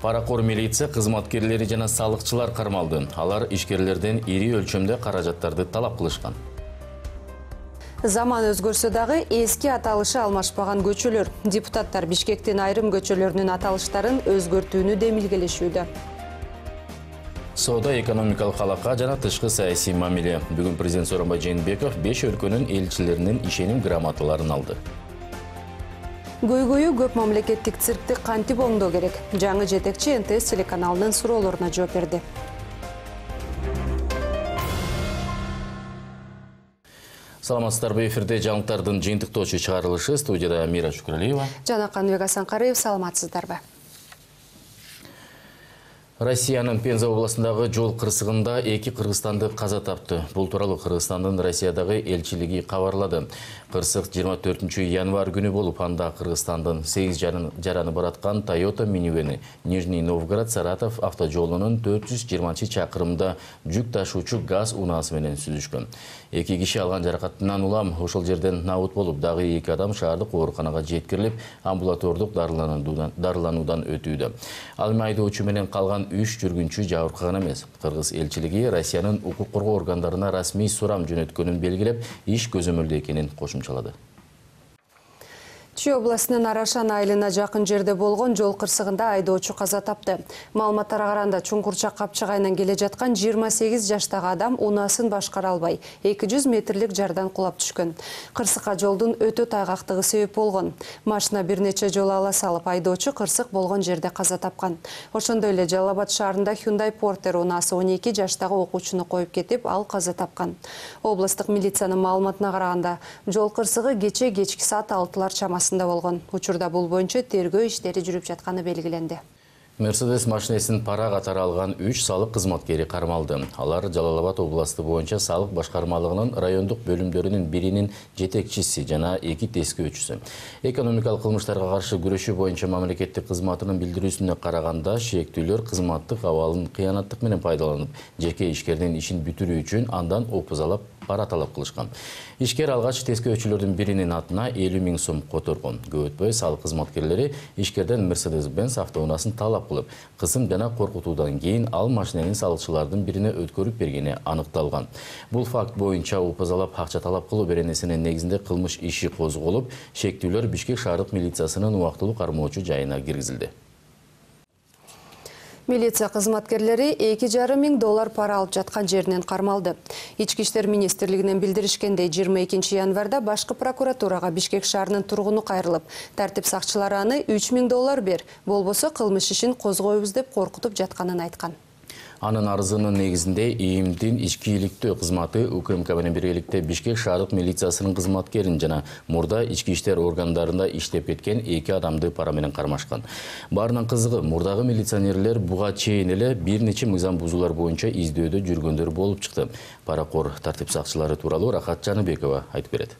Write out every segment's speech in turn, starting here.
Паракор милиция кызматкерлери жана салыкчылар кармалды. Алар ишкерлерден ири өлчөмдө каражаттарды талап кылышкан. Заман өзгөрсө дагы эски аталышы алмашпаган көчөлөр. Депутаттар Бишкектин айрым көчөлөрүнүн аталыштарын өзгөртүүнү демилгелешүүдө. Соода экономикалык алака жана тышкы саясий мамиле. Бүгүн президент Сооронбай Жээнбеков 5 өлкөнүн элчилеринин ишеним грамоталарын алды. Көйгөйү көп мамлекеттик циркти кантип оңдоо керек? Жаңы жетекчи НТС телеканалынын суроолоруна жооп берди. Саламатсыздарбы, эфирде жаңылыктардын жыйынтыктоочу чыгарылышы, студияда Мира Шукралиева жана Каныбек Асанкариев. Саламатсыздарбы. Россиянын Пенза областындагы жол кырсыгында 2 кыргызстандык каза тапты. Бул тууралуу Кыргызстандын Россиядагы элчилиги кабарлады. Кырсык 24 январь күнү болуп, анда Кыргызстандын 8 жараны бараткан Toyota минивени Нижний Новгород Саратов автожолунун 420 чакырымда жүк ташуучу газ унаасы менен сүзүшкөн. 2 киши алган жаракатынан улам ошол жерден набыт болуп, дагы 2 адам шаардык ооруканага жеткирилип, амбулатордук дарылануудан өтүүдө. Ал эми айдоочу менен калган 3 жүргүнчү жабыркаган эмес. Кыргыз элчилиги Россиянын укук коргоо органдарына расмий сурам жөнөткөнүн белгилеп, иш көзөмөлдө экенин кошумчалады. Чүй областынын Арашан айылына жакын жерде болгон жол кырсыгында айдоочу каза тапты. Маалыматтарга караганда Чуңкурчак Капчыгайынан келе жаткан 28 жаштагы адам унаасын башкара албай 200 метрлик жардан кулап түшкөн. Кырсыкка жолдун өтө тайгактыгы себеп болгон. Машина бир нече жолу ала салып, айдоочу кырсык болгон жерде каза тапкан. Ошондой эле Жалал Абад шаарында Hyundai Porter унаасы 12 жаштагы окуучуну коюп кетип, ал каза тапкан. Областык милициянын маалыматына караганда, жол кырсыгы кечки саат 6-лар чамасында болгон. Учурда бул боюнча тергөө иштери жүрүп жатканы белгиленди. Мерседес машинесин пара катары алган 3 салык кызматкери кармалды. Алар Жалал Абад областы боюнча салык башкармалыгынын райондук бөлүмдөрүнүн биринин жетекчиси жана 2 тескөөчүсү. Экономикалык кылмыштарга каршы күрөшүү боюнча мамлекеттик кызматынын билдирүүсүнө караганда, шектүүлөр кызматтык абалын кыянаттык менен пайдаланып, жеке ишкердин ишин бүтүрүү үчүн андан опузалап пара талап кылышкан. Ишкер алгач тескөөчүлөрдүн биринин атына 50 000 сом которгон. Көп өтпөй салык кызматкерлери ишкерден Mercedes-Benz автоунаасын талап кылып, кысым жана коркутуудан кийин ал машиненин салыкчылардын бирине өткөрүп бергени аныкталган. Бул факт боюнча опузалап акча талап кылуу беренесинин негизинде кылмыш иши козголуп, шектүүлөр Бишкек шаардык милициясынын убактылуу кармоочу жайына киргизилди. Милиция кызматкерлери $2,5 пара алып жаткан жеринен кармалды. Ички иштер министрлигинен билдиришкендей, 22 январда башкы прокуратурага Бишкек шаарынын тургуну кайрылып, тартип сакчылары аны $3,000 бер, болбосо кылмыш ишин козгойбуз деп коркутуп жатканын айткан. Анын арызынын негизинде ИИМдин ички иликтөө кызматы УКМК менен биргеликте Бишкек шаардык милициясынын кызматкерин жана мурда ички иштер органдарында иштеп кеткен 2 адамды пара менен кармашкан. Баарынан кызыгы, мурдагы милиционерлер буга чейин эле бир нече мыйзам бузуулар боюнча издөөдө жүргөндөр болуп чыкты. Паракор тартип сакчылары тууралуу Рахат Жаныбекова айтып берет.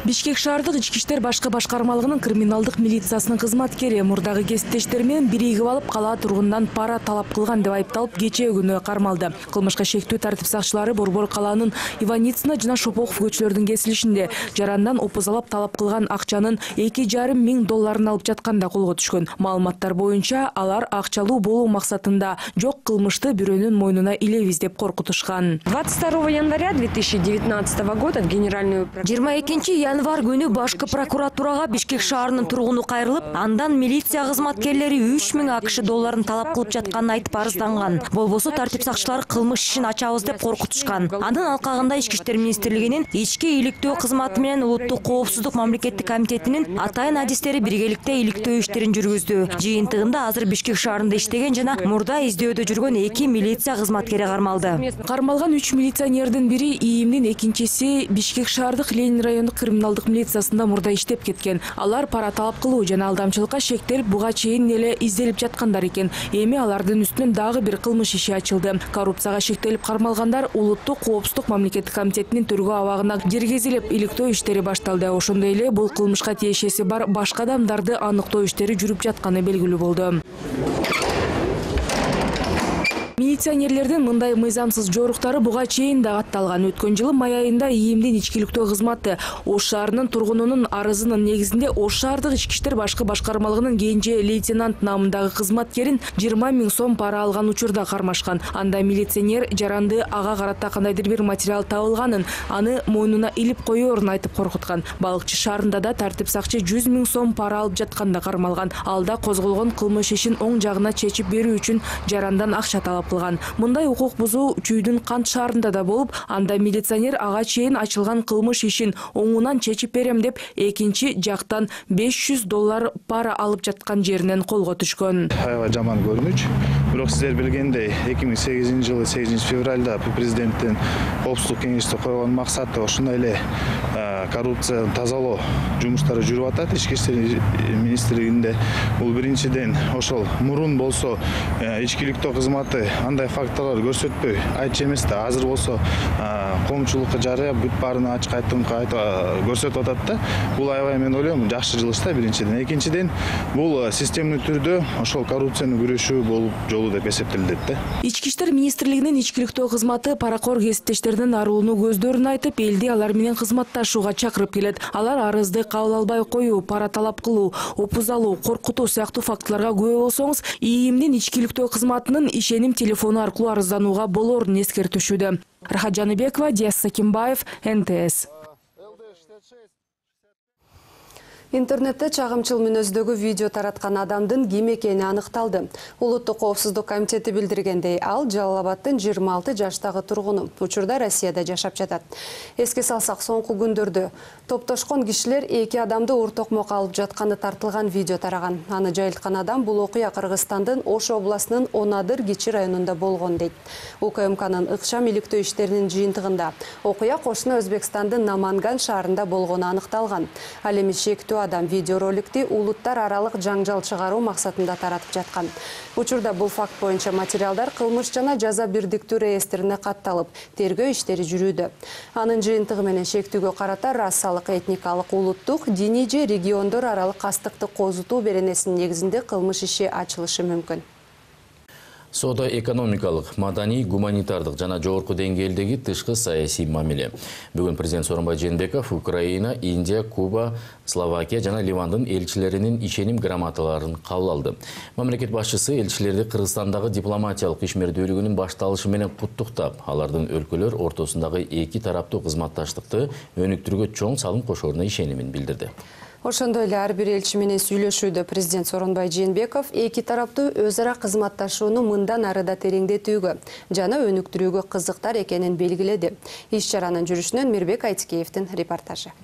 Бишкек шаардык ички иштер башкы башкармалыгынын криминалдык милициясынын кызматкери мурдагы кесиптештери менен биригип алып калаа тургунунан пара талап кылган деп айыпталып кечээ күнү кармалды. Кылмышка шектүү тартип сакчылары Борбор калаанын Иваницына жана Шопоков көчөлөрүнүн кесилишинде жарандан опузалап талап кылган акчанын $2,500 алып жатканда колго түшкөн. Маалыматтар боюнча алар акчалуу болуу максатында жок кылмышты бирөөнүн мойнуна илебиз деп коркутушкан. 22 января 2019 года генеральную 22 январь күнү башкы прокуратурага Бишкек шаарынын тургуну кайрылып, андан милиция кызматкерлери $3,000 талап кылып жатканын айтып арызданган. Болбосо тартип сакчылары кылмыш ишин ачабыз деп коркутушкан. Анын алкагында Ички иштер министрлигинин ички иликтөө кызматы менен Улуттук коопсуздук мамлекеттик комитетинин атайын адистери биргеликте иликтөө иштерин жүргүздү. Жыйынтыгында азыр Бишкек шаарында иштеген жана мурда издөөдө жүргөн 2 милиция кызматкери кармалды. Кармалган 3 милиционердин бири ИИМдин, экинчиси Бишкек шаардык Ленин райондук криминалдык милициясында мурда иштеп кеткен. Алар пара талап кылуу жана алдамчылыкка шектелип, буга чейин эле изделип жаткандар экен. Эми алардын үстүнөн дагы бир кылмыш иши ачылды. Коррупцияга шектелип кармалгандар Улуттук коопсуздук мамлекеттик комитетинин тергөө абагына киргизилип, иликтөө иштери башталды. Ошондой эле бул кылмышка тиешеси бар башка адамдарды аныктоо иштери жүрүп жатканы белгилүү болду. Милиционерлердин мындай мыйзамсыз жоруктары буга чейин да катталган. Өткөн жылы май айында ИИМдин ичкиликтөө кызматы Ош шаарынын тургунунун арызынын негизинде Ош шаардык ички иштер башкы башкармалыгынын кенже лейтенант намындагы кызматкерин 20 000 сом пара алган учурда кармашкан. Анда милиционер жаранды ага карата кандайдыр бир материал табылганын, аны мойнуна илип коёрун айтып коркуткан. Балыкчы шаарында да тартип сакчы 100 000 сом пара алып жатканда кармалган. Алда козголгон кылмыш ишин оң жагына чечип берүү үчүн жарандан акча талап кылган. Мындай укук бузуу Чүйдүн Кант шаарында да болуп, анда милиционер ага чейин ачылган кылмыш ишин оңунан чечип берем деп экинчи жактан $500 пара алып жаткан жеринен колго түшкөн. Аябай жаман көрүнүч. Бирок сиздер билгендей 2008 жылы 8 февралда президенттин коопсуздук кеңеште койгон максаты ошондой эле коррупцияны тазалоо жумуштары жүрүп атат. Ички иштер министрлигинде бул биринчиден ошол мурун болсо ичкиликтөө кызматы андай факторлор көрсөтпөй айтчу эмес да, азыр болсо коомчулукка жарыя бүт баарын ачык көрсөтүп атат да. Бул аябай мен ойлойм жакшы жылыш да биринчиден. Экинчиден бул системдүү түрдө ошол коррупцияны күрөшүү болуп жолу деп эсептелет да. Ички иштер министрлигинин ичкиликтөө кызматы паракор кесиптештердин арылууну көздөрүн айтып, элди алар менен кызматташууга чакырып келет. Алар арызды кабыл албай коюу, пара талап кылуу, опуз алуу, коркутуу сыяктуу фактыларга күбө болсоңуз, ИИМдин ичкиликтөө кызматынын ишеним телефону аркылуу арызданууга болорун эскертишүүдө. Рахат Жаныбекова, Диас Сакимбаев, НТС. Интернетте чагымчыл мүнөздөгү видео тараткан адамдын ким экени аныкталды. Улуттук коопсуздук комитети билдиргендей, ал Жалал Абадтын 26 жаштагы тургуну. Учурда Россияда жашап жатат. Эске салсак, соңку күндөрдө топтошкон кишилер 2 адамды уртокмок алып жатканы тартылган видео тараган. Аны жайылткан адам бул окуя Кыргызстандын Ош областынын Онадыр Кичи районунда болгон дейт. УКМКнын ыкчам иликтөө иштеринин жыйынтыгында окуя кошуна Өзбекстандын Наманган шаарында болгону аныкталган. Ал эми шектүү адам видеороликти улуттар аралык жаңжал чыгаруу максатында таратып жаткан. Учурда бул факт боюнча материалдар кылмыш жана жаза бирдиктүү реестрине катталып, тергөө иштери жүрүүдө. Анын жыйынтыгы менен шектүүгө карата расалык, этникалык, улуттук, диний же региондор аралык кастыкты козутуу беренесинин негизинде кылмыш иши ачылышы мүмкүн. Соода экономикалык, маданий, гуманитардык жана жогорку деңгээлдеги тышкы саясий мамиле. Бүгүн президент Сооронбай Жээнбеков Украина, Индия, Куба, Словакия жана Ливандын элчилеринин ишеним грамоталарын кабыл алды. Мамлекет башчысы элчилерди Кыргызстандагы дипломатиялык ишмердүүлүгүнүн башталышы менен куттуктап, алардын өлкөлөр ортосундагы эки тараптуу кызматташтыкты өнүктүрүүгө чоң салым кошоруна ишенимин билдирди. Ошондой эле ар бир элчи менен сүйлөшүүдө президент Сооронбай Жээнбеков эки тараптуу өз ара кызматташууну мындан ары да тереңдетүүгө жана өнүктүрүүгө кызыктар экенин белгиледи. Иш чаранын жүрүшүнөн Мирбек Айтикеевдин репортажы.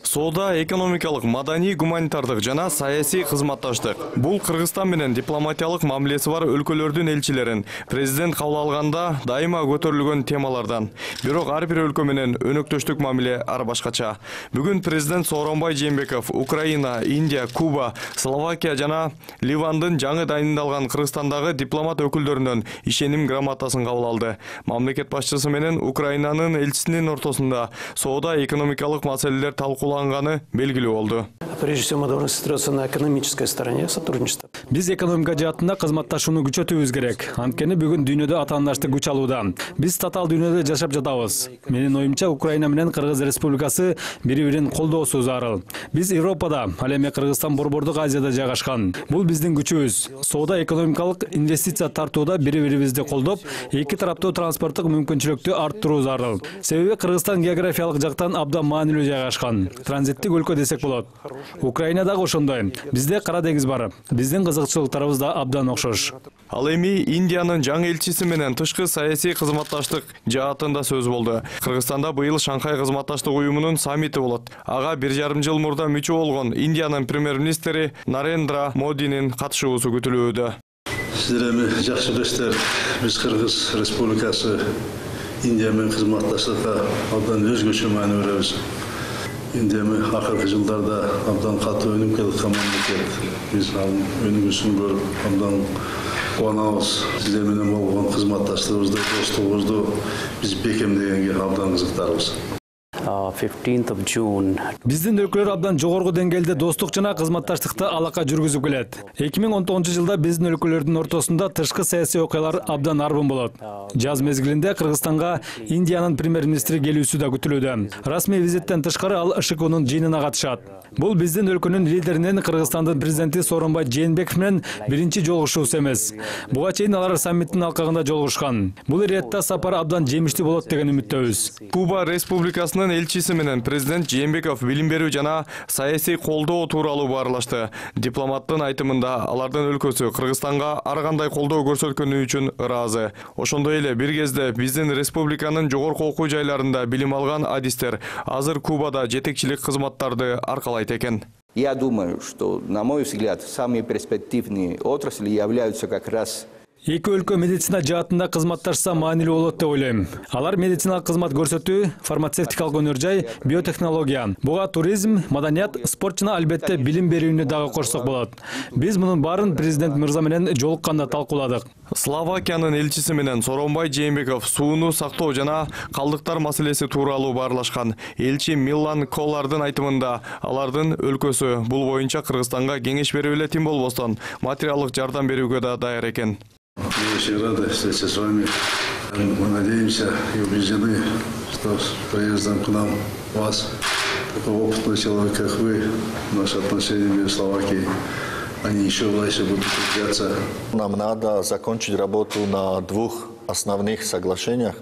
Соода экономикалык, маданий, гуманитардык жана саясий кызматташтык. Бул Кыргызстан менен дипломатиялык мамилеси бар өлкөлөрдүн элчилерин президент кабыл алганда дайыма көтөрүлгөн темалардан. Бирок ар бир өлкө менен өнөктөштүк мамиле ар башкача. Бүгүн президент Сооронбай Жээнбеков Украина, Индия, Куба, Словакия жана Ливандын жаңы дайындалган Кыргызстандагы дипломат өкүлдөрүнөн ишеним грамотасын кабыл алды. Мамлекет башчысы менен Украинанын элчисинин ортосунда соода экономикалык маселелер талкууланганы белгилүү болду. Прежде всего, мы должны сосредоточиться на экономической стороне сотрудничества. Биз экономика жаатында кызматташууну күчөтүүбүз керек. Анткени бүгүн дүйнөдө атаандаштык күч алууда. Биз татаал дүйнөдө жашап жатабыз. Менин оюмча, Украина менен Кыргыз Республикасы бири-бирин колдоосу зарыл. Биз Европада, ал эми Кыргызстан Борбордук Азияда жайгашкан. Бул биздин күчүбүз. Соода экономикалык инвестиция тартууда бири-бирибизди колдоп, эки тараптуу транспорттук мүмкүнчүлүктү арттыруу зарыл. Себеби Кыргызстан географиялык жактан абдан маанилүү жайгашкан. Транзиттик өлкө десек болот. Украина дагы ошондой. Бизде Кара деңиз бар. Биздин кызыкчылыктарыбыз да абдан окшош. Ал эми Индиянын жаңы элчиси менен тышкы саясий кызматташтык жаатында сөз болду. Кыргызстанда быйыл Шанхай кызматташтык уюмунун саммити болот. Ага 1,5 жыл мурда мүчө болгон Индиянын премьер-министри Нарендра Модинин катышуусу күтүлүүдө. Сиздер эми жакшы билесиздер, биз Кыргыз Республикасы Индия менен кызматташтыкка абдан өзгөчө маани беребиз. Индия акыркы жылдарда абдан катуу өнүгүп келаткан мамлекет. Биз анын өнүгүүсүн көрүп абдан кубанабыз. Сиздер менен болгон кызматташтыгыбызды, достугубузду биз бекемдегенге абдан кызыктарбыз. 15th of June. Биздин өлкөлөр абдан жогорку деңгээлде достук жана кызматташтыкты алака жүргүзүп келет. 2019-жылда биздин өлкөлөрдүн ортосунда тышкы саясий окуялар абдан арбын болот. Жаз мезгилинде Кыргызстанга Индиянын премьер-министри келүүсү да күтүлүүдө. Расмий визиттен тышкары ал ШКУнун жыйынына катышат. Бул биздин өлкөнүн лидеринин Кыргызстандын президенти Сооронбай Жээнбеков менен биринчи жолугушуусу эмес. Буга чейин алар саммиттин алкагында жолугушкан. Бул иретте сапар абдан жемиштүү болот деген үмүттөбүз. Куба Республикасынын элчиси менен президент Жээнбеков билим берүү жана саясий колдоо тууралуу баарлашты. Дипломаттын айтымында алардын өлкөсү Кыргызстанга ар кандай колдоо көрсөткөнү үчүн ыраазы. Ошондой эле бир кезде биздин республиканын жогорку окуу жайларында билим алган адистер азыр Кубада жетекчилик кызматтарды аркалайт экен. Я думаю, что, на мой взгляд, самые перспективные отрасли являются как раз Эки өлкө медицина жаатында кызматташса маанилүү болот деп ойлойм. Алар медициналык кызмат көрсөтүү, фармацевтикалык өнөр жай, биотехнология, буга туризм, маданият, спорт жана албетте билим берүүнү дагы кошсок болот. Биз мунун баарын президент мырза менен жолукканда талкууладык. Словакиянын элчиси менен Сооронбай Жээнбеков сууну сактоо жана калдыктар маселеси тууралуу баарлашкан. Элчи Милан Колардын айтымында алардын өлкөсү бул боюнча Кыргызстанга кеңеш берип эле тим болбостон материалдык жардам берүүгө да даяр экен. Мы очень рады встретиться с вами. Мы надеемся и убеждены, что с приездом к нам вас, такого опытного человека, как вы, наши отношения между Словакией, они еще дальше будут укрепляться. Нам надо закончить работу на двух основных соглашениях.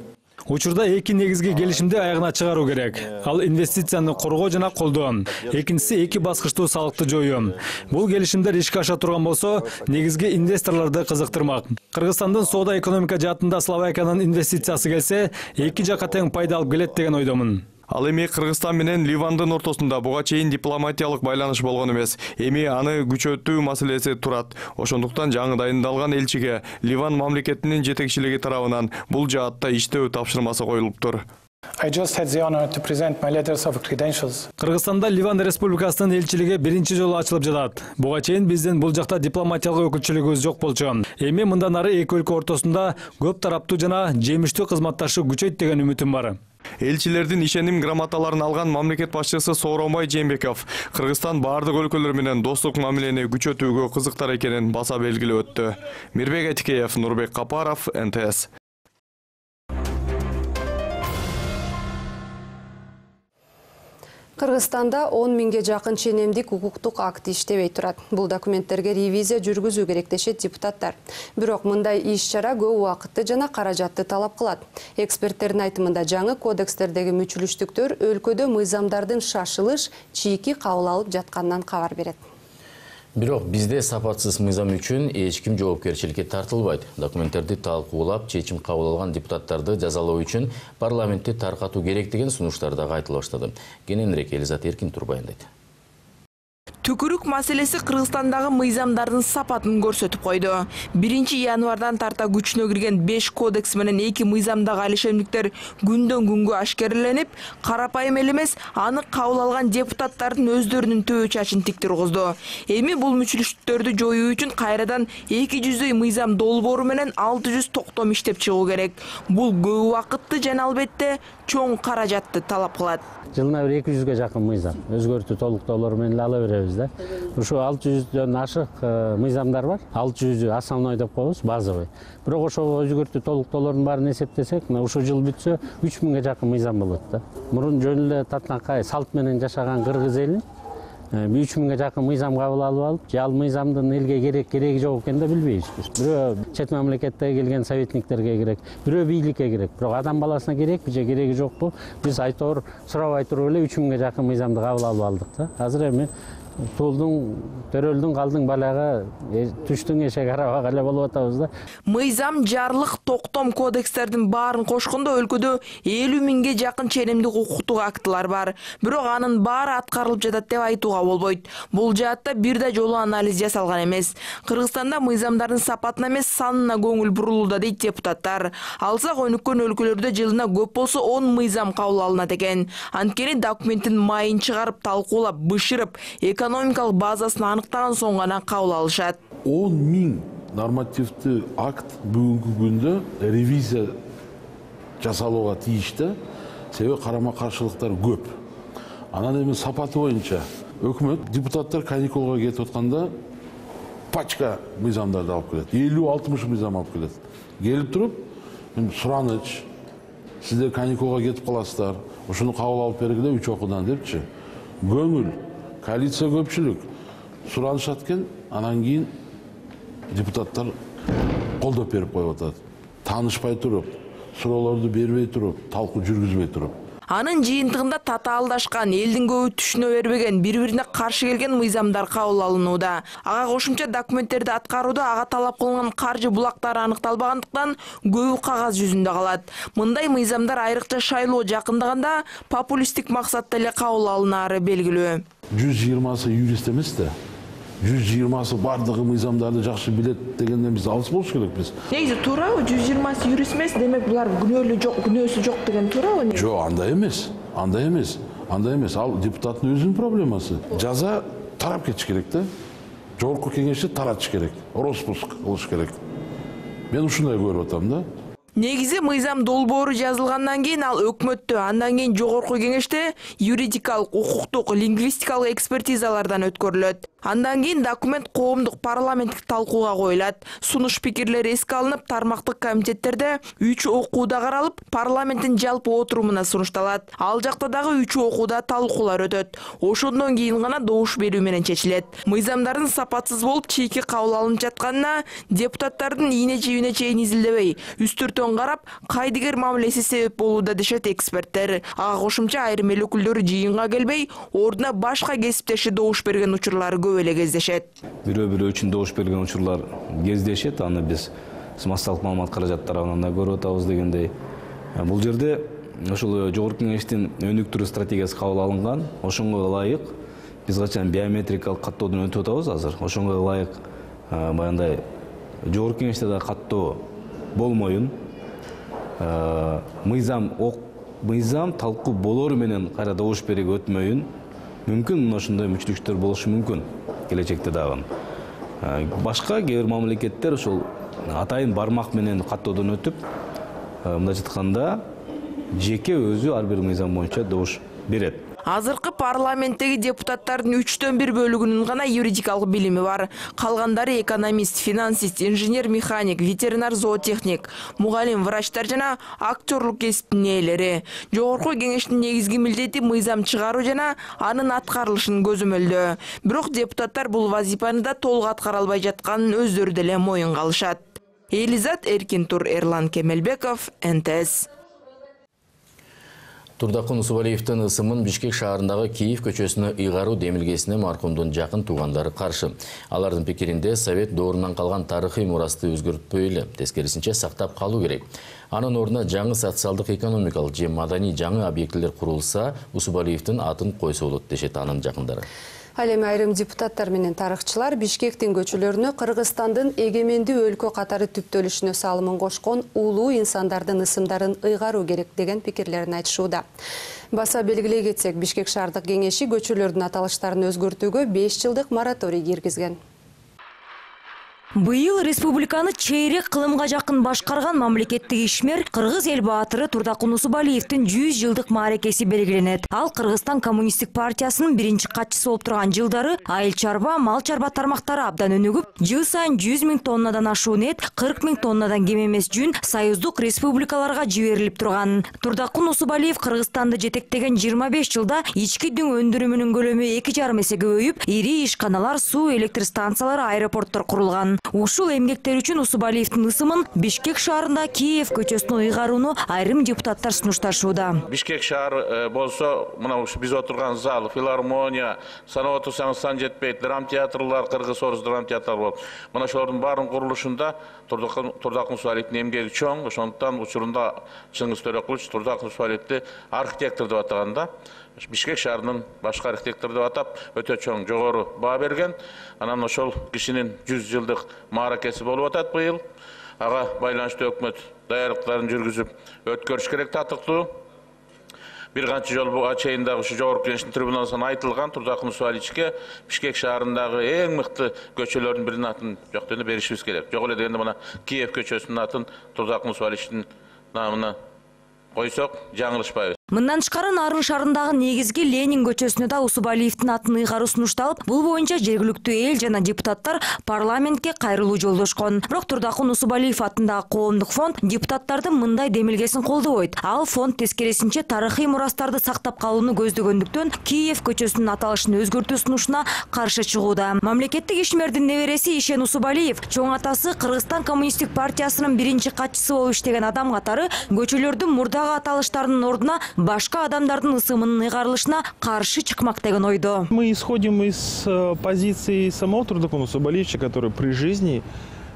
Учурда эки негизги келишимди аягына чыгаруу керек. Ал инвестицияны коргоо жана колдоо. Экинчиси эки баскычтуу салыкты жоюу. Бул келишимдер ишке аша турган болсо, негизги инвесторлорду кызыктырмак. Кыргызстандын соода экономика жаатында Словакиянын инвестициясы келсе, эки жакка тең пайда алып келет деген ойдомун. Ал эми Кыргызстан менен Ливандын ортосунда буга чейин дипломатиялык байланыш болгон эмес. Эми аны күчөтүү маселеси турат. Ошондуктан жаңы дайындалган элчиге Ливан мамлекетинин жетекчилиги тарабынан бул жаатта иштөө тапшырмасы коюлуптур. I just had the honor to present my letters of credentials. Кыргызстанда Ливан Республикасынын элчилиги биринчи жолу ачылып жатат. Буга чейин биздин бул жакта дипломатиялык өкүлчүлүгүбүз жок болчу. Эми мындан ары эки өлкө ортосунда көп тараптуу жана жемиштүү кызматташуу күчөйт деген үмүтүм бар. Элчилердин ишеним грамоталарын алган мамлекет башчысы Сооронбай Жээнбеков Кыргызстан бардык өлкөлөр менен достук мамилени күчөтүүгө кызыктар экенин баса белгилеп өттү. Мирбек Атикеев, Нурбек Капаров, НТС. Кыргызстанда 10 миңге жакын ченемдик укуктук акт иштебей турат. Бул документтерге ревизия жүргүзүү керек дешет депутаттар. Бирок мындай иш-чара көп убакытты жана каражатты талап кылат. Эксперттердин айтымында жаңы кодекстердеги мүчүлүштүктөр өлкөдө мыйзамдардын шашылыш, чийки кабыл алып жатканынан кабар берет. Бирок бизде сапатсыз мыйзам үчүн эч ким жоопкерчиликке тартылбайт. Документтерди талкуулап, чечим кабыл алган депутаттарды жазалоо үчүн парламентти таркатуу керек деген сунуштар дагы айтыла баштады. Кененирээк Элизат Эркин турбайындайт. Түкүрүк маселеси Кыргызстандагы мыйзамдардын сапатын көрсөтүп койду. 1 январдан тарта күчүнө кирген 5 кодекс менен 2 мыйзамдагы алишемдиктер күндөн күнгө ашкереленип, карапайым элемес аны кабыл алган депутаттардын өздөрүнүн төбө чачын тик тургузду. Эми бул мүчүлүштүктөрдү жоюу үчүн кайрадан 200 мыйзам долбоору менен 600 токтом иштеп чыгуу керек. Бул көп убакытты жана албетте чоң каражатты талап кылат. Жылына 200-ге жакын мыйзам өзгөртүү толуктоолор менен ала беребиз да. Ушу 600дөн ашык мыйзамдар бар. 600 основной деп коебуз, базовый. Бирок ошо өзгөртүү толуктоолордун баарын эсептесек, ушул жыл бүтсө 3000ге жакын мыйзам болот да. Мурун жөн эле татынакай салт менен жашаган кыргыз элин 3000ге жакын мыйзам кабыл алып алып, же ал мыйзамдын элге кереги жок экенин да билбейбиз. Бирөө чет мамлекетте келген советниктерге керек, бирөө бийликке керек. Бирок адам баласына керекпи же кереги жокпу? Биз айтор сурабай туруп эле 3000ге жакын мыйзамды кабыл алып алдык да. Азыр эми туулдун, төрөлдүн калдың балага түштүң эшеги арабага эле болуп атабыз да. Мыйзам, жарлык, токтом кодекстердин баарын кошкондо өлкөдө 50 миңге жакын ченемдик укуктук актылар бар. Бирок анын баары аткарылып жатат деп айтууга болбойт. Бул жаатта бир да жолу анализ жасалган эмес. Кыргызстанда мыйзамдардын сапатына эмес, санына көңүл бурулууда дейт депутаттар. Алсак өнүккөн өлкөлөрдө жылына көп болсо 10 мыйзам кабыл алынат экен. Анткени документтин майын чыгарып, талкуулап, бышырып, экономикалык базасын аныктаган соң гана кабыл алышат. 10 миң нормативдүү акт бүгүнкү күндө ревизия жасалууга тийиштүү. себеби карама каршылыктар көп. Анан эми сапаты боюнча өкмөт депутаттар каникулга кетип атканда пачка мыйзамдарды алып келет. 50-60 мыйзам алып келет. Келип туруп, сураныч, сиздер каникулга кетип каласыздар, ушуну кабыл алып бергиле 3 окуудан депчи. Көңүл, коалиция көпчүлүк суранышат экен, анан кийин депутаттар колдоп берип коюп атат. Таанышпай туруп, суроолорду бербей туруп, талкуу жүргүзбөй туруп. Анын жыйынтыгында татаалдашкан, элдин көбү түшүнө бербеген, бири-бирине каршы келген мыйзамдар кабыл алынууда. Ага кошумча документтерди аткарууда ага талап кылынган каржы булактары аныкталбагандыктан көбү кагаз жүзүндө калат. Мындай мыйзамдар айрыкча шайлоо жакындаганда популисттик максатта эле кабыл алынаары белгилүү. 120сы юрист эмес да. 120сы бардыгы мыйзамдарды жакшы билет дегенден биз алыс болуш керекпиз. Негизи туурабы? 120сы юрист эмес, демек булар күнөөсү жок деген туурабы? Жок, андай эмес. Андай эмес. Ал депутаттын өзүнүн проблемасы. Жаза тарап кетиш керек да. Жогорку кеңешти таратыш керек. Роспуск кылыш керек. Мен ушундай көрүп атам да. Негизи мыйзам долбоору жазылгандан кийин ал өкмөттө, андан кийин жогорку кеңеште юридикалык, укуктук, лингвистикалык экспертизалардан өткөрүлөт. Андан кийин документ коомдук парламенттик талкууга коюлат. Сунуш пикирлер эске алынып, тармактык комитеттерде 3 окууда каралып, парламенттин жалпы отурумуна сунушталат. Ал жакта дагы 3 окууда талкуулар өтөт. Ошондон кийин гана добуш берүү менен чечилет. Мыйзамдардын сапатсыз болуп, чийки кабыл алынып жатканына депутаттардын ийне-жибине чейин изилдебей, үстүртөн карап, кайдыгер мамилеси себеп болууда дешет эксперттер. Ага кошумча айрым эл өкүлдөрү жыйынга келбей, ордуна башка кесиптеши добуш берген учурлар көп эле кездешет. Бирөө үчүн добуш берген учурлар кездешет. Аны биз массалык маалымат каражат тарабынан да көрүп атабыз дегендей. Бул жерде ошол жогорку кеңештин өнүктүрүү стратегиясы кабыл алынган. Ошонго ылайык биз качан биометрикалык каттоодон өтүп атабыз азыр. Ошонго ылайык баягындай жогорку кеңеште да каттоо болмоюн, мыйзам талкуу болору менен кайра добуш берүүгө өтмөйүн. Мүмкүн мына ошондой мүчтүктөр болушу мүмкүн келечекте дагы. Башка кээ бир мамлекеттер ошол атайын бармак менен каттоодон өтүп, мындайча айтканда, жеке өзү ар бир мыйзам боюнча добуш берет. Азыркы парламенттеги депутаттардын 3/1 бөлүгүнүн гана юридикалык билими бар. Калгандары экономист, финансист, инженер, механик, ветеринар, зоотехник, мугалим, врачтар жана актерлук кесиптин ээлери. Жогорку кеңештин негизги милдети мыйзам чыгаруу жана анын аткарылышын көзөмөлдөө. Бирок депутаттар бул вазифаны да толук аткара албай жатканын өздөрү деле моюнга алышат. Элизат Эркинтур, Эрлан Кемелбеков, НТС. Турдакун Усубалиевдин ысымын Бишкек шаарындагы Киев көчөсүнө ыйгаруу демилгесине маркумдун жакын туугандары каршы. Алардын пикиринде Совет доорунан калган тарыхый мурасты өзгөртпөй эле, тескерисинче сактап калуу керек. Анын ордуна жаңы социалдык, экономикалык же маданий жаңы объектилер курулса, Усубалиевдин атын койсо болот дешет анын жакындары. Ал эми айрым депутаттар менен тарыхчылар Бишкектин көчөлөрүнө Кыргызстандын эгемендүү өлкө катары түптөлүшүнө салымын кошкон улуу инсандардын ысымдарын ыйгаруу керек деген пикирлерин айтышууда. Баса белгилей кетсек, Бишкек шаардык кеңеши көчөлөрдүн аталыштарын өзгөртүүгө 5 жылдык мораторий киргизген. Быйыл республиканы чейрек кылымга жакын башкарган мамлекеттик ишмер Кыргыз эл баатыры Турдакун Усубалиевдин 100 жылдык мааракеси белгиленет. Ал Кыргызстан коммунисттик партиясынын биринчи катчысы болуп турган жылдары айыл чарба, мал чарба тармактары абдан өнүгүп, жыл сайын 100 000 тоннадан ашуун эт, 40 000 тоннадан кем эмес жүн союздук республикаларга жиберилип турган. Турдакун Усубалиев Кыргызстанды жетектеген 25 жылда ички дүң өндүрүмүнүн көлөмү 2,5 эсе көбөйүп, ири ишканалар, суу электр станциялары, аэропорттор курулган. Ушул эмгектер үчүн Усубалиевдин ысымын Бишкек шаарында Киев көчөсүнө ыйгарууну айрым депутаттар сунушташууда. Бишкек шаары болсо, мына биз отурган зал, филармония, санап отурсаңыз сан жетпейт, драм театрлар, кыргыз-орус драм театрлар болот. Мына ошолордун баарынын курулушунда Турдакун Усубалиевдин эмгеги чоң, ошондуктан учурунда Чыңгыз Төрөкулович Турдакун Усубалиевди архитектор деп атаганда, Бишкек шаарынын башкы архитектор деп атап, өтө чоң жогору баа берген. Анан ошол кишинин 100 жылдык мааракеси болуп атат быйыл. Ага байланыштуу өкмөт даярдыктарын жүргүзүп өткөрүш керек татыктуу. Бир канча жол буга чейин дагы ушу жогорку кеңештин трибуналарынан айтылган Турдакун Усубалиевичке Бишкек шаарындагы эң мыкты көчөлөрдүн биринин атын жоктойгондо беришибиз керек. Жок эле дегенде мына Киев көчөсүнүн атын Турдакун Усубалиевичтин намына койсок жаңылышпайбыз. Мындан тышкары Нарын шаарындагы негизги Ленин көчөсүнө да Усубалиевдин атын ыйгаруу сунушталып, бул боюнча жергиликтүү эл жана депутаттар парламентке кайрылуу жолдошкон. Бирок Турдакун Усубалиев атындагы коомдук фонд депутаттардын мындай демилгесин колдобойт. Ал фонд тескерисинче тарыхый мурастарды сактап калууну көздөгөндүктөн Киев көчөсүнүн аталышын өзгөртүү сунушуна каршы чыгууда. Мамлекеттик ишмердин небереси Ишен Усубалиев чоң атасы Кыргызстан коммунисттик партиясынын биринчи катчысы болуп иштеген адам катары көчөлөрдүн мурдагы аталыштарынын ордуна башка адамдардын ысымынын ыйгарылышына каршы чыкмак деген ойдо. Мы исходим из позиции самого Турдакуна Усубалиевича, который при жизни,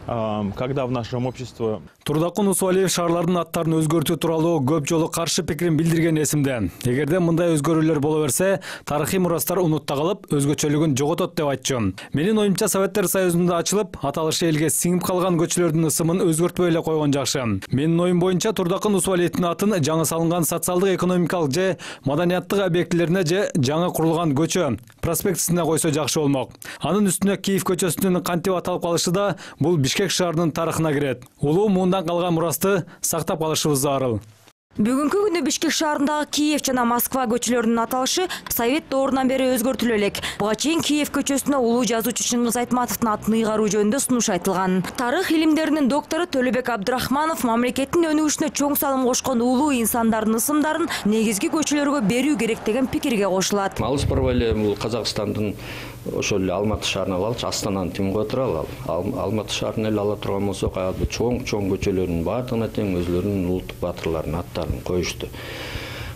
когда в нашем обществе... Турдакун Усубалиев шаарлардын аттарын өзгөртүү тууралуу көп жолу каршы пикирин билдирген эсимде. Эгерде мындай өзгөрүүлөр боло берсе, тарыхый мурастар унутта калып, өзгөчөлүгүн жоготот деп айтчу. Менин оюмча Советтер Союзунда ачылып, аталышы элге сиңип калган көчөлөрдүн ысымын өзгөртпөй эле койгон жакшы. Менин оюм боюнча Турдакун Усубалиевдин атын жаңы салынган социалдык, экономикалык же маданияттык объектилерине же жаңы курулган көчө проспектисине койсо жакшы болмок. Анын үстүнө Киев көчөсүнүн кантип аталып калышы да бул Бишкек шаарынын тарыхына кирет. Улуу муундан калган мурасты сактап калышыбыз зарыл. Бүгүнкү күнү Бишкек шаарындагы Киев жана Москва көчөлөрүнүн аталышы Совет доорунан бери өзгөртүлө элек. Буга чейин Киев көчөсүнө улуу жазуучу Чыңгыз Айтматовдун атын ыйгаруу жөнүндө сунуш айтылган. Тарых илимдеринин доктору Төлөбек Абдрахманов мамлекеттин өнүгүшүнө чоң салым кошкон улуу инсандардын ысымдарын негизги көчөлөргө берүү керек деген пикирге кошулат. Алыс барбай эле бул Казакстандын ошол эле Алматы шаарына алалычы, Астананы тим кое туралы Алматы шаарын эле ала турган болсок, чоң көчөлөрдүн баардыгына тең өзлөрүнүн улуттук баатырларынын аттарын коюшту.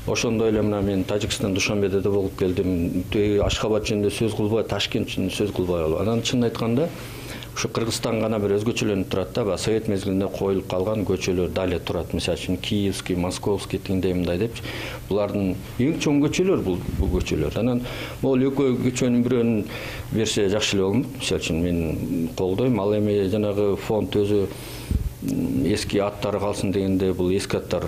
Ошондой эле мына мен Тажикстан Душанбеде да болуп келдим. Ашхабад жөнүндө сөз кылбай, Ташкент жөнүндө сөз кылбай алып. Анан чынын айтканда, ушу Кыргызстан гана бир өзгөчөлөнүп турат да, Совет мезгилинде коюлуп калган көчөлөр дале турат. Мисалы үчүн Киевский, Московский тиңдей мындай депчи. Булардын эң чоң көчөлөр бул көчөлөр. Анан могул экөө көчөнүн бирөөнүн берсе жакшы эле болмок. Мисалы үчүн мен колдойм. Ал эми жанагы фонд өзү эски аттары калсын дегенде бул эски аттар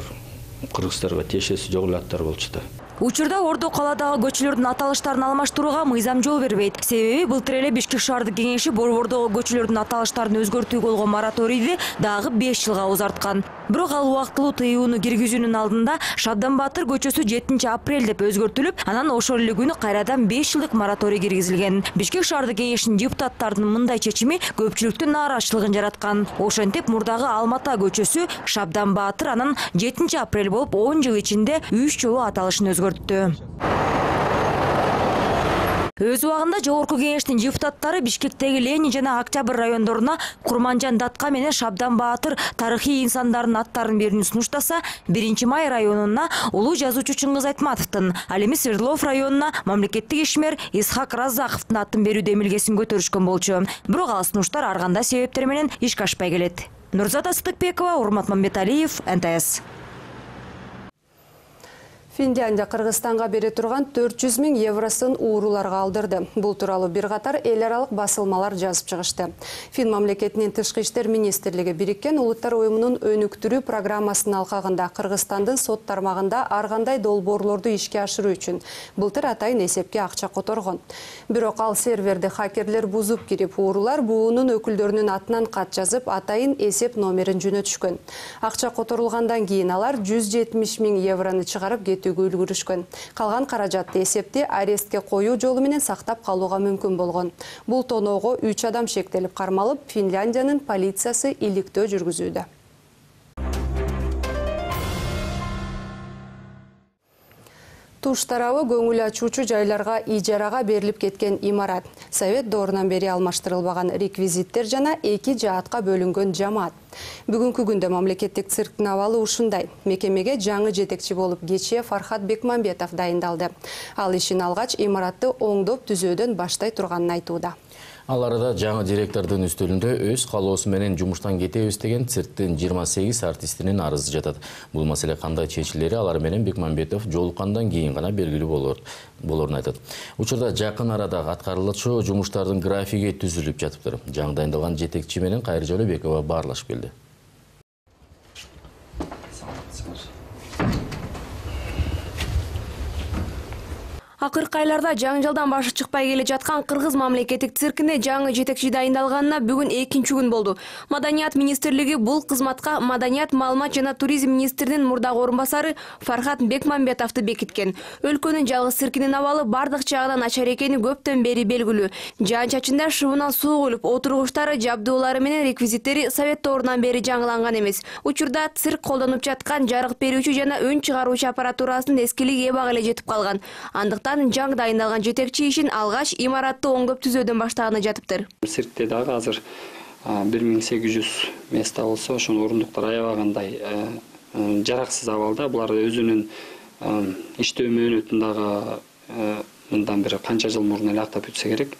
кыргыздарга тиешеси жок эле аттар болчу да. Учурда Ордо калаадагы көчөлөрдүн аталыштарын алмаштырууга мыйзам жол бербейт. Себеби былтыр эле Бишкек шаардык кеңеши Борбордогу көчөлөрдүн аталыштарын өзгөртүүгө болгон мораторийди дагы 5 жылга узарткан. Бирок ал убактылуу тыюуну киргизүүнүн алдында Шабдан Баатыр көчөсү 7 апрель деп өзгөртүлүп, анан ошол эле күнү кайрадан 5 жылдык мораторий киргизилген. Бишкек шаардык кеңешинин депутаттарынын мындай чечими көпчүлүктүн нааразычылыгын жараткан. Ошентип мурдагы Алмата көчөсү Шабдан Баатыр анан 7 апрель болуп 10 жыл ичинде 3 жолу аталышын өзгөрттү. Өз убагында жогорку кеңештин депутаттары Бишкектеги Ленин жана Октябрь райондоруна Курманжан Датка менен Шабдан Баатыр тарыхый инсандардын аттарын берүүнү сунуштаса, 1 май районуна улуу жазуучу Чыңгыз Айтматовдун, ал эми Свердлов районуна мамлекеттик ишмер Исхак Раззаковдун атын берүү демилгесин көтөрүшкөн болчу. Бирок ал сунуштар ар кандай себептер менен ишке ашпай келет. Нурзата Сыдыкбекова, Урмат Мамбеталиев, НТС. Финляндия Кыргызстанга бере турган 400 000 евросын ууруларга алдырды. Бул тууралуу бир катар эл аралык басылмалар жазып чыгышты. Фин мамлекетинин тышкы иштер министрлиги Бириккен Улуттар уюмунун өнүктүрүү программасынын алкагында Кыргызстандын сот тармагында ар кандай долбоорлорду ишке ашыруу үчүн былтыр атайын эсепке акча которгон. Бирок ал серверди хакерлер бузуп кирип, уурулар буунун өкүлдөрүнүн атынан кат жазып, атайын эсеп номерин жөнөтүшкөн. Акча которулгандан кийин алар 170 000 еврону чыгарып кетүүгө үлгүрүшкөн. Калган каражатты эсепти арестке коюу жолу менен сактап калууга мүмкүн болгон. Бул тоноого 3 адам шектелип кармалып, Финляндиянын полициясы иликтөө жүргүзүүдө. Туш тарабы көңүл ачуучу жайларга ижарага берилип кеткен имарат. Совет доорунан бери алмаштырылбаган реквизиттер жана 2 жаатка бөлүнгөн жамаат. Бүгүнкү күндө мамлекеттик цирктин абалы ушундай. Мекемеге жаңы жетекчи болуп кечээ Фархат Бекмамбетов дайындалды. Ал ишин алгач имаратты оңдоп түзөөдөн баштай турганын айтууда. Ал арада жаңы директордун үстөлүндө өз калоосу менен жумуштан кетебиз деген цирктин 28 артистинин арызы жатат. Бул маселе кандай чечилери алар менен Бекмамбетов жолуккандан кийин гана белгилүү болорун айтат. Учурда жакын арада аткарылчу жумуштардын графиги түзүлүп жатыптыр. Жаңы дайындалган жетекчи менен Кайыр Жолобекова баарлашып келди. Акыркы айларда жаңжалдан башы чыкпай келе жаткан Кыргыз мамлекеттик циркине жаңы жетекчи дайындалганына бүгүн 2-чи күн болду. Маданият министрлиги бул кызматка Маданият, маалымат жана туризм министринин мурдагы орун басары Фархат Бекмамбетовду бекиткен. Өлкөнүн жалгыз циркинин абалы бардык жагынан начар экени көптөн бери белгилүү. Жаан-чачында шыбынан суу куюлуп, отургучтары, жабдуулары менен реквизиттери Совет доорунан бери жаңыланган эмес. Учурда цирк колдонуп жаткан жарык берүүчү жана өн чыгаруучу аппаратурасынын эскилиги эбак эле жетип калган. Андыктан жаң дайындалган жетекчи ишин алгач имаратты оңдоп түзөөдөн баштаганы жатыптыр. Циркте дагы азыр 1800 места болсо, ошонун орундуктар аябагандай жараксыз абалда. Булар өзүнүн иштөө мөөнөтүн дагы мындан бир канча жыл мурун эле актап бүтсө керек.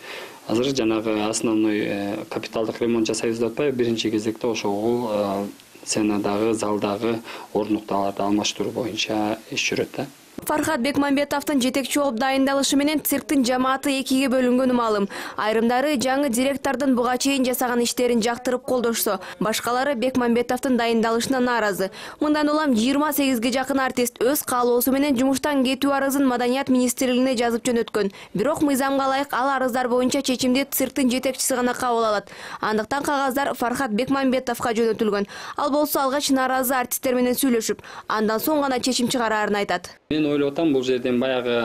Азыр жанагы основной капиталдык ремонт жасайбыз деп атпайбы, биринчи кезекте ошол сценадагы, залдагы орундуктарды алмаштыруу боюнча иш жүрөт да. Фархат Бекмамбетовдун жетекчи болуп дайындалышы менен цирктин жамааты экиге бөлүнгөнү маалым. Айрымдары жаңы директордун буга чейин жасаган иштерин жактырып колдошсо, башкалары Бекмамбетовдун дайындалышына нааразы. Мындан улам 28ге жакын артист өз каалоосу менен жумуштан кетүү арызын Маданият министрлигине жазып жөнөткөн. Бирок мыйзамга ылайык ал арыздар боюнча чечимди цирктин жетекчиси гана кабыл алат. Андыктан кагаздар Фархат Бекмамбетовго жөнөтүлгөн. Ал болсо алгач нааразы артисттер менен сүйлөшүп, андан соң гана чечим чыгарарын айтат. Мен ойлоп атам, бул жерден баягы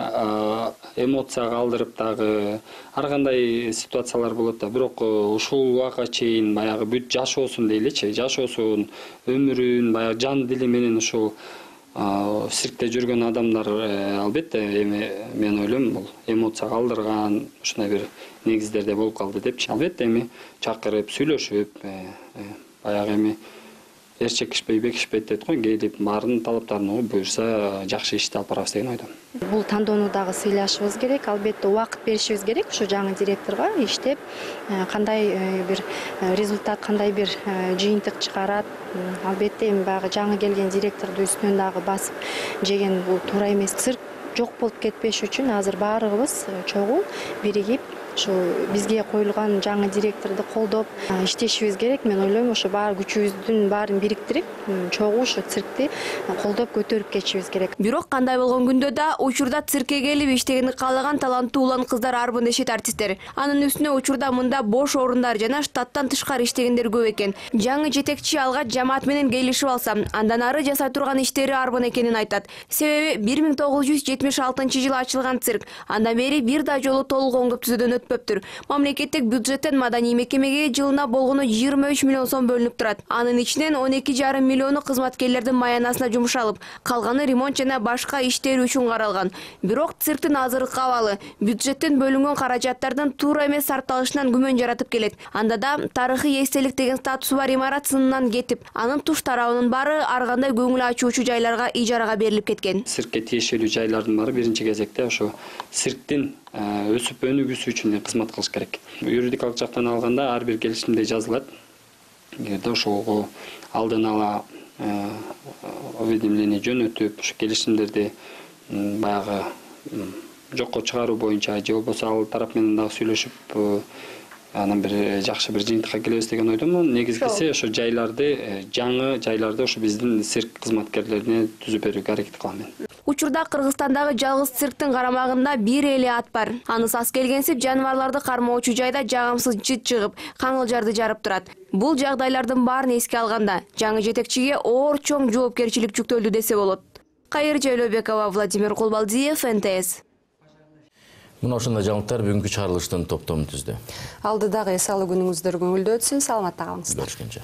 эмоцияга алдырып дагы ар кандай ситуациялар болот да. Бирок ушул убакка чейин баягы бүт жашоосун дейличи, жашоосун, өмүрүн, баягы жан дили менен ушул циркте жүргөн адамдар албетте эми мен ойлойм бул эмоцияга алдырган, ушундай бир негиздерде болуп калды депчи. Албетте эми чакырып, сүйлөшүп, баягы эми эр чекишпей бекишпейт дейт го, келип баарын талаптарын буюрса жакшы ишти алып барабыз деген ойдомун. Бул тандоону дагы сыйлашыбыз керек, албетте убакыт беришибиз керек ушу жаңы директорго иштеп, кандай бир результат, кандай бир жыйынтык чыгарат. Албетте эми баягы жаңы келген директорду үстүнөн дагы басып жеген бул туура эмес. Цирк жок болуп кетпеш үчүн азыр баарыбыз чогуу биригип ушу бизге коюлган жаңы директорду колдоп иштешибиз керек. Мен ойлойм, ошо баары күчүбүздүн баарын бириктирип, чогуу ушу циркти колдоп көтөрүп кетишибиз керек. Бирок кандай болгон күндө да учурда циркке келип иштегенди каалаган таланттуу улан кыздар арбын дешет артисттер. Анын үстүнө учурда мында бош орундар жана штаттан тышкары иштегендер көп экен. Жаңы жетекчи алгач жамаат менен келишип алса, андан ары жасай турган иштери арбын экенин айтат. Себеби 1976-жылы ачылган цирк андан бери бир да жолу толук оңдоп түзөөдөн өтпөптүр. Мамлекеттик бюджеттен маданий мекемеге жылына болгону 23 миллион сом бөлүнүп турат. Анын ичинен 12,5 миллиону кызматкерлердин маянасына жумшалып, калганы ремонт жана башка иштер үчүн каралган. Бирок цирктин азыркы абалы бюджеттен бөлүнгөн каражаттардын туура эмес сарпталышынан күмөн жаратып келет. Анда да тарыхый эстелик деген статусу бар имарат сынынан кетип, анын туш тарабынын баары ар кандай көңүл ачуучу жайларга ижарага берилип кеткен. Циркке тиешелүү жайлардын баары биринчи кезекте ошо цирктин өсүп өнүгүүсү үчүн кызмат кылыш керек. Юридикалык жактан алганда ар бир келишимде жазылат. Эгерде ошого алдын ала уведомление жөнөтүп, ушу келишимдерди баягы жокко чыгаруу боюнча же болбосо ал тарап менен дагы сүйлөшүп, анан бир жакшы бир жыйынтыкка келебиз деген ойдомун. Негизгиси ошо жайларды, жаңы жайларды ошо биздин цирк кызматкерлерине түзүп берүүгө аракет кылам мен. Учурда Кыргызстандагы жалгыз цирктин карамагында бир эле ат бар. Аны сас келгенсип жаныбарларды кармоочу жайда жагымсыз жыт чыгып, каңылжарды жарып турат. Бул жагдайлардын баарын эске алганда жаңы жетекчиге оор чоң жоопкерчилик жүктөлдү десе болот. Кайыр Жайлообекова, Владимир Кулбалдиев, НТС. Мына ошондой жаңылыктар бүгүнкү чыгарылыштын топтомун түздү. Алдыдагы эс алуу күнүңүздөр көңүлдүү өтсүн, саламатта калыңыздар. Görüşкенче.